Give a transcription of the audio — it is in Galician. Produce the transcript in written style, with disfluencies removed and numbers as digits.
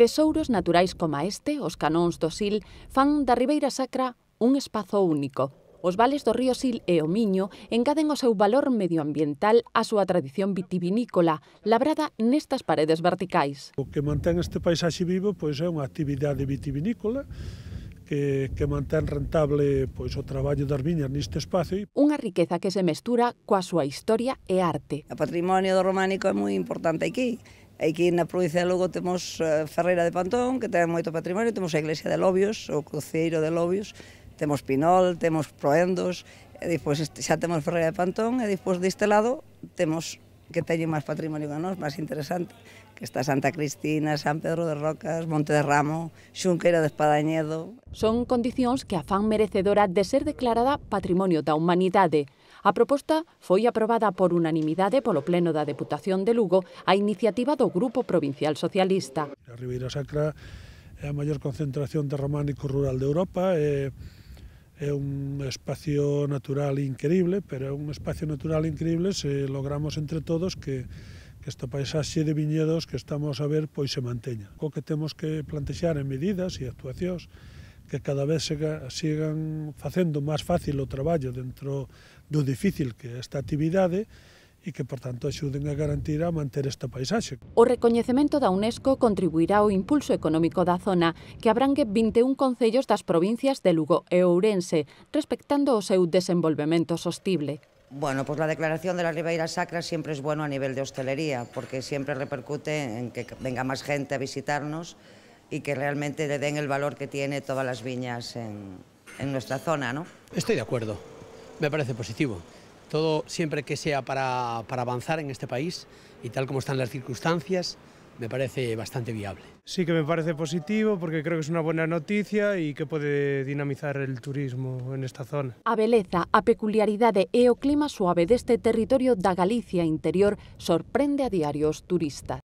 Tesouros naturais como este, os canóns do Sil, fan da Ribeira Sacra un espazo único. Os vales do río Sil e o Miño engaden o seu valor medioambiental á súa tradición vitivinícola, labrada nestas paredes verticais. O que mantén este paisaxe vivo pois é unha actividade vitivinícola que mantén rentable pois o traballo das viñas neste espazo. Unha riqueza que se mestura coa súa historia e arte. O patrimonio do románico é moi importante aquí. Aquí na provincia de Lugo temos Ferreira de Pantón, que ten moito patrimonio, temos a iglesia de Lobios, o cruceiro de Lobios, temos Pinol, temos Proendos, e depois xa temos Ferreira de Pantón, e depois deste lado temos que teñen máis patrimonio que nós, máis interesante, que está Santa Cristina, San Pedro de Rocas, Monte de Ramo, Xunqueira de Espadañedo. Son condicións que a fan merecedora de ser declarada Patrimonio da Humanidade. A proposta foi aprobada por unanimidade polo Pleno da Deputación de Lugo a iniciativa do Grupo Provincial Socialista. A Ribeira Sacra é a maior concentración de románico rural de Europa, é un espacio natural increíble, pero é un espacio natural increíble se logramos entre todos que esta paisaxe de viñedos que estamos a ver pois se manteña. O que temos que plantexar en medidas e actuacións que cada vez sigan facendo máis fácil o traballo dentro do difícil que é esta actividade e que, por tanto, axuden a garantir a manter esta paisaxe. O recoñecemento da UNESCO contribuirá ao impulso económico da zona, que abrangue 21 concellos das provincias de Lugo e Ourense, respectando o seu desenvolvemento sostible. Bueno, pues la declaración de la Ribeira Sacra siempre es bueno a nivel de hostelería, porque siempre repercute en que venga más gente a visitarnos y que realmente le den el valor que tiene todas las viñas en nuestra zona, ¿no? Estoy de acuerdo, me parece positivo. Todo siempre que sea para avanzar en este país y tal como están las circunstancias, me parece bastante viable. Sí que me parece positivo porque creo que es una buena noticia y que puede dinamizar el turismo en esta zona. A beleza, a peculiaridade e o clima suave deste territorio da Galicia interior sorprende a diario os turistas.